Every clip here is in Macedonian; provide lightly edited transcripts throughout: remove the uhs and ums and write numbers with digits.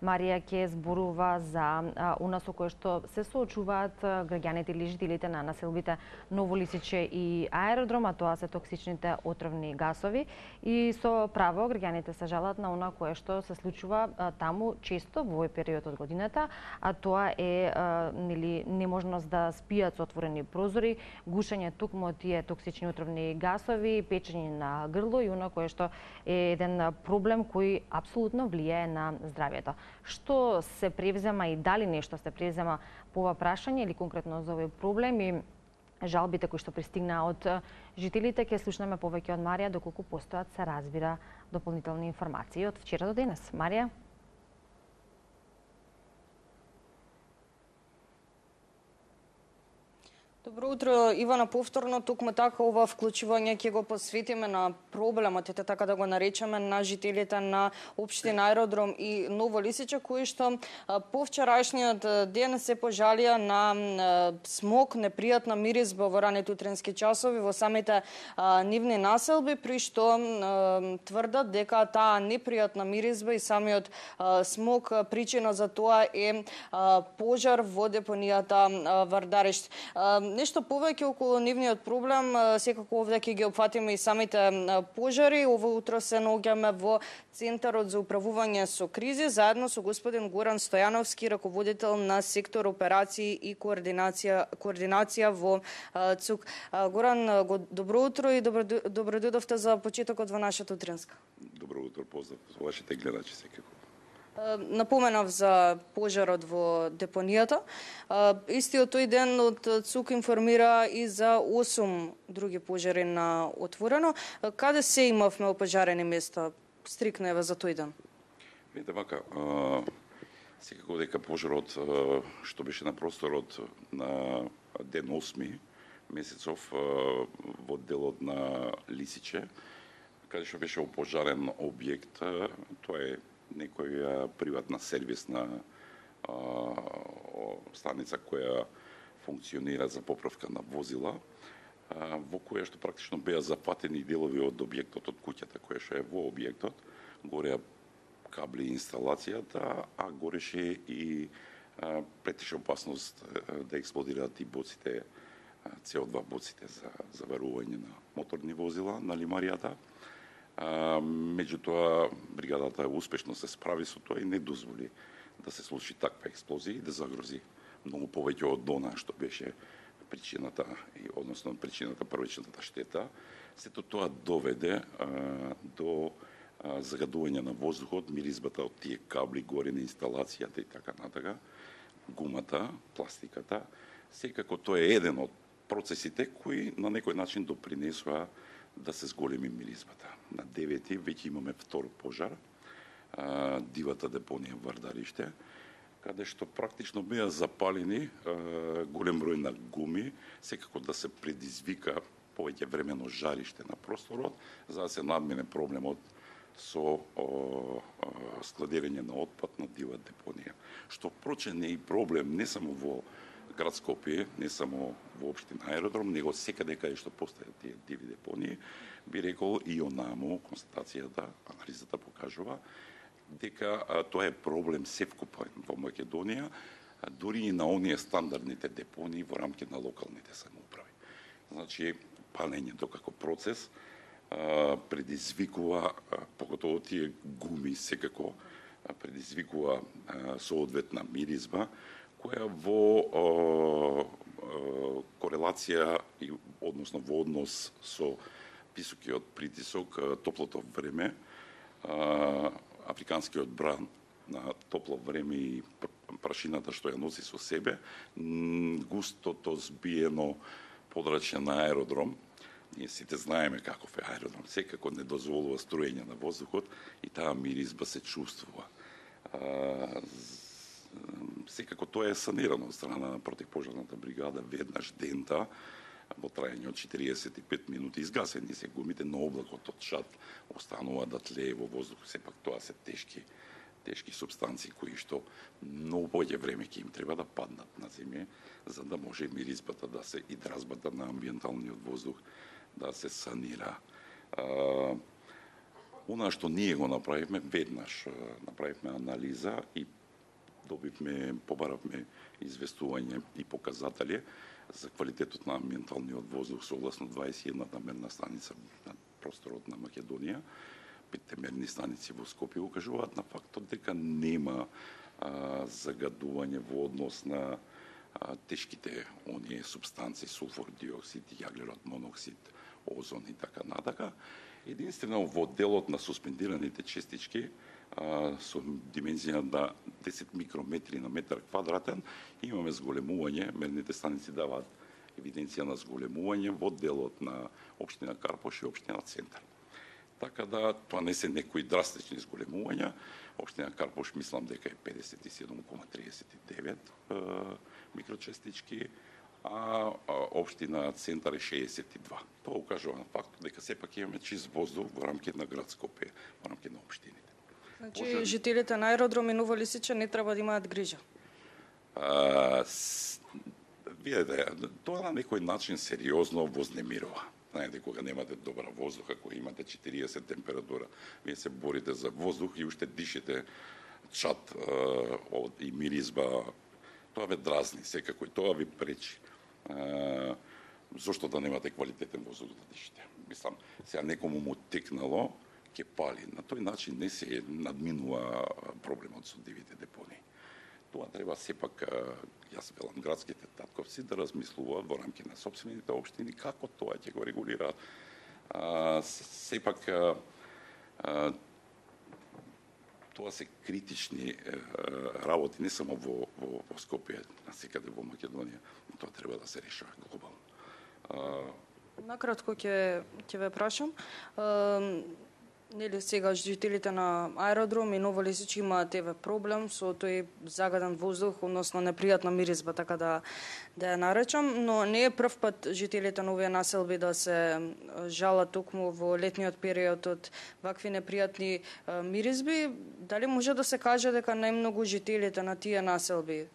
Марија ќе зборува за она со кое што се соочуваат граѓаните или жителите на населбите Ново Лисиче и аеродром, а тоа се токсичните отровни гасови. И со право граѓаните се жалат на она кое што се случува таму често во овој период од годината, а тоа е неможност да спијат со отворени прозори, гушење токму од тие токсични отровни гасови, печење на грло и она кое што е еден проблем кој апсолутно влијае на здравјето. Што се превзема и дали нешто се превзема по ова прашање или конкретно за овој проблем и жалбите кои што пристигнаа од жителите, ќе слушнеме повеќе од Марија доколку постојат, се разбира, дополнителни информации од вчера до денес. Марија? Добро утро, Ивана, повторно. Токму така ова вклучување ќе го посветиме на проблемот, така да го наречеме, на жителите на општина Аеродром и Ново Лисиче, кои што по вчерашниот ден се пожалија на смог, непријатна миризба во ранете утрински часови во самите нивни населби, при што тврдат дека таа непријатна миризба и самиот смог причина за тоа е пожар во депонијата Вардариште. Нешто повеќе околу нивниот проблем, секако овде ќе ги опфатиме и самите пожари. Ово утро се наоѓаме во Центарот за управување со кризи, заедно со господин Горан Стојановски, раководител на сектор операции и координација во ЦУК. Горан, добро утро и добро дојдовте за почетокот во нашата утринска. Добро утро, поздрав за вашите гледачи секако. Напоменав за пожарот во депонијата. Истиот тој ден од ЦУК информира и за 8 други пожари на отворено. Каде се имавме опожарени места? Стрикно е за тој ден. Видите вака, секако дека пожарот што беше на просторот на ден 8 месецов во делот на Лисиче, каде што беше опожарен објект, тоа е некоја приватна сервисна станица која функционира за поправка на возила, во која што практично беа зафатени делови од објектот, од куќата која што е во објектот, гореа кабли инсталацијата, а гореше и претеше опасност да експлодираат и боците, CO2 боците за заварување на моторни возила на лимаријата. Меѓутоа, бригадата успешно се справи со тоа и не дозволи да се случи таква експлозија и да загрози многу повеќе од она што беше причината, односно причината првичната штета. Сето тоа доведе до загадување на воздухот, миризбата од тие кабли, горени инсталацијата и така натака, гумата, пластиката. Секако тоа е еден од процесите кои на некој начин допринесоа да се зголеми миризбата. На 9-ти веќе имаме втор пожар, дивата депонија Вардариште, каде што практично беа запалени голем број на гуми, секако да се предизвика повеќе времено жариште на просторот, за да се надмине проблемот со складирање на отпад на дива депонија. Што впрочем не е проблем не само во град Скопје, не само во општина Аеродром, него секаде каде што постојат тие диви депонии, би рекол и онаму констатацијата, анализата покажува дека тоа е проблем севкупен во Македонија, дури и на оние стандардните депонии во рамки на локалните самоуправи. Значи, палењето како процес предизвикува, поготово тие гуми секако предизвикува соодветна миризба, која во корелација и односно во однос со високиот притисок, топлото време, африканскиот бран на топло време и прашината што ја носи со себе, густото збиено подрачје на аеродром. Ние сите знаеме каков е аеродром, секако не дозволува струење на воздухот и таа миризба се чувствува. Секако тоа е санирано од страна на противпожарната бригада веднаш дента во трајање од 45 минути. Изгасени се гумите, но облакот од шат останува да тлее во воздухот. Сепак тоа се тешки супстанции кои што многу повеќе време ќе им треба да паднат на земја, за да може миризбата да се и дразбата на амбиенталниот воздух да се санира. Она што ние го направивме, веднаш направивме анализа и побаравме известување и показатели за квалитетот на амбиенталниот воздух согласно 21-та мерна станица на просторот на Македонија. 5 мерни станици во Скопје укажуваат на фактот дека нема загадување во однос на тешките оние супстанции, сулфур диоксид, јаглерод моноксид, озон и така натака. Единствено во делот на суспендираните честички со димензија на 10 микрометри на метар квадратен имаме зголемување, мерните станици даваат евиденција на зголемување во делот на општина Карпош и општина Центар. Така да тоа не се некои драстични зголемувања. Општина Карпош мислам дека е 57,39 микрочестички, а општина Центар е 62. Тоа укажува на фактот дека сепак имаме чист воздух во рамките на град Скопје, во рамките на општините. Значи, жителите на аеродром и Ново Лисиче не треба да имаат грижа? Видете, тоа на некој начин сериозно вознемирува. Знаете, кога немате добра воздух, ако имате 40 температура, вие се борите за воздух и уште дишите чад и миризба, тоа ве дразни секако и тоа ви пречи. Зошто да немате квалитетен воздух да дишите? Мислам, сега некому му текнало, ќе пали. На тој начин не се надминува проблемот со дивите депонии. Тоа треба сепак, јас велам, градските татковци да размислуваат во рамки на сопствените општини како тоа ќе го регулираат. Сепак тоа се критични работи не само во Скопје, а секаде во Македонија. Тоа треба да се решава глобално. Накратко ќе ве прашам. Нели сега жителите на аеродром и Ново Лисиче имаат проблем со тој загаден воздух, односно непријатна миризба, така да ја наречам, но не е прв пат жителите на овие населби да се жалат токму во летниот период од вакви непријатни миризби. Дали може да се каже дека најмногу жителите на тие населби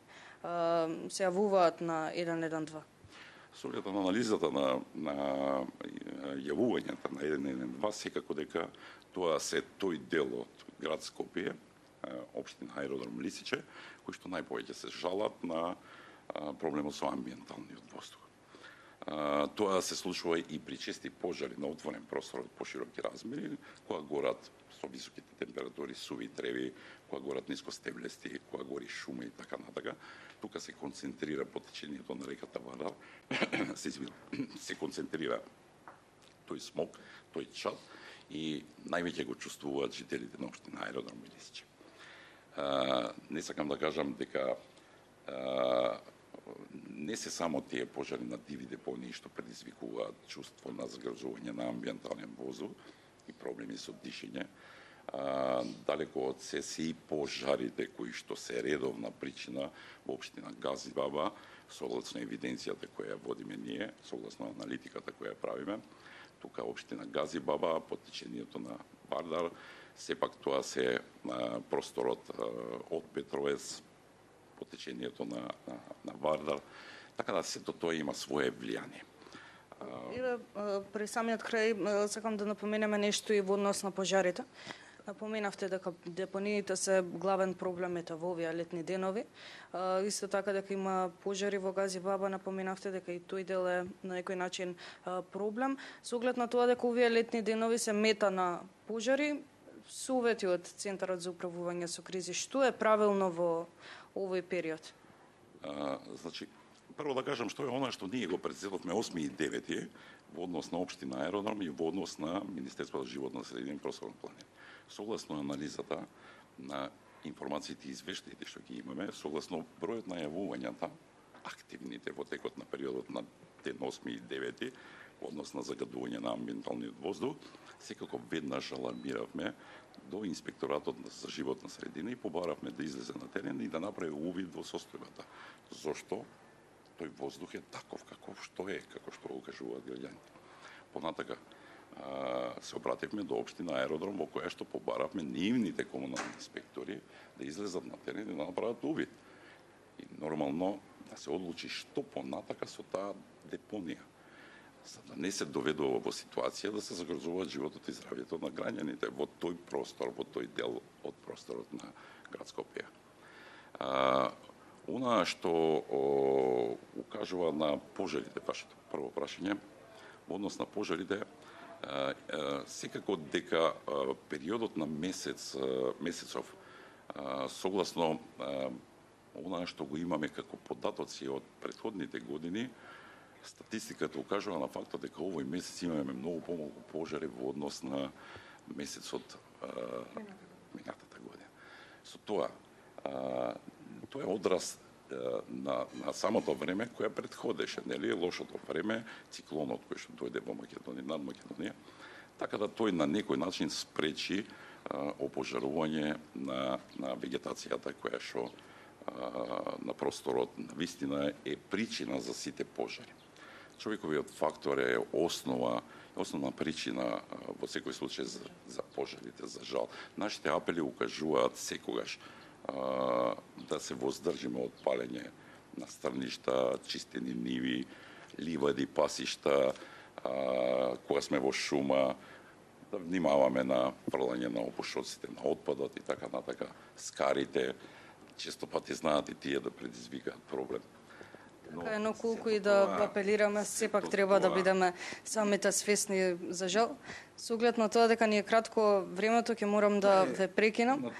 се јавуваат на 112? Со оглед на анализата на јавувањата на 112, секако дека тоа се тој дел од град Скопје, општина аеродром Лисиче, кои што најповеќе се жалат на проблемот со амбиенталниот воздух. Тоа се случува и при чести пожари на отворен простор од пошироки размери, кога горат со високите температури суви треви, кога горат нискостеблести, кога гори шума и така натака. Тука се концентрира потечењето на реката Вардар, се концентрира тој смог, тој чад и највеќе го чувствуваат жителите на општина аеродром Лисиче. Не сакам да кажам дека не се само тие пожари на диви депонии што предизвикуваат чувство на загрозување на амбиентален воздух и проблеми со дишење. Далеко од се и пожарите кои што се редовна причина во општина Газибаба, согласно евиденцијата која водиме ние, согласно аналитиката која правиме. Тука општина Газибаба, потечењето на Вардар, сепак тоа се просторот од Петровец, потечењето на Вардар, така да сето тоа има свое влијание. При самиот крај сакам да напоменеме нешто и во однос на пожарите. Напоменавте дека депониите се главен проблем во овие летни денови. Исто така дека има пожари во Газибаба, напоменавте дека и тој дел е на некој начин проблем. Со оглед на тоа дека овие летни денови се мета на пожари, совети од Центарот за управување со кризи, што е правилно во овој период? Значи, прво да кажам што е она што ние го председовме 8 и 9 во однос на општина аеродром и во однос на Министерството за животна средина и prostorno планирање. Согласно анализата на информациите и извештаите што ги имаме, согласно бројот на јавувањата, активните во текот на периодот на ден 8 и 9 во однос на загадување на амбиенталниот воздух, секако веднаш алармиравме до Инспекторатот за животна средина и побаравме да излезе на терен и да направи увид во состојбата. Зошто тој воздух е таков каков што е, како што го кажуваат граѓаните. Понатака се обративме до општина аеродром во која што побаравме нивните комунални инспектори да излезат на терен и да направат увид. И нормално да се одлучи што понатака со таа депонија. за да не се доведува во ситуација да се загрозуваат животот и здравјето на граѓаните во тој простор, во тој дел од просторот на град Скопје. Она што укажува на пожарите, вашето прво прашање, во однос на пожарите, секако дека периодот на месецов, согласно она што го имаме како податоци од претходните години, статистиката укажува на фактот дека овој месец имаме многу помалку пожари во однос на месецот минатата година. Со тоа, тоа е одраз на самото време кое предходеше, нели, лошото време, циклонот кој што дојде во Македонија, над Македонија, така да тој на некој начин спречи опожарување на вегетацијата која што на просторот на вистина е причина за сите пожари. Човековиот фактор е основна причина во секој случај за пожарите, за жал. Нашите апели укажуваат секогаш да се воздржиме од палење на стрништа, чистени ниви, ливади, пасишта, кога сме во шума, да внимаваме на фрлање на опушоците, на отпадот и така натака. Скарите често пати знаат и тие да предизвикаат проблем. Но колку и да апелираме, сепак треба да бидеме самите свесни за жал. Со оглед на тоа дека ни е кратко времето, ќе морам да ве прекинам.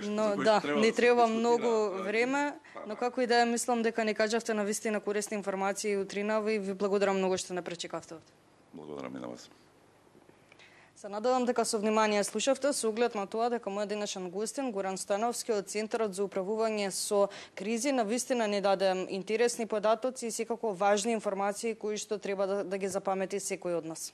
Но да, не треба многу време, но како и да е, мислам дека ни кажавте на вистина корисни информации утринава и ви благодарам многу што не пречекавте. Благодарам и на вас. Се надевам дека со внимание слушавте со оглед на тоа дека мојот денешен гостин Горан Стојановски од Центарот за управување со кризи на вистина ни даде интересни податоци и секако важни информации кои што треба да ги запамети секој од нас.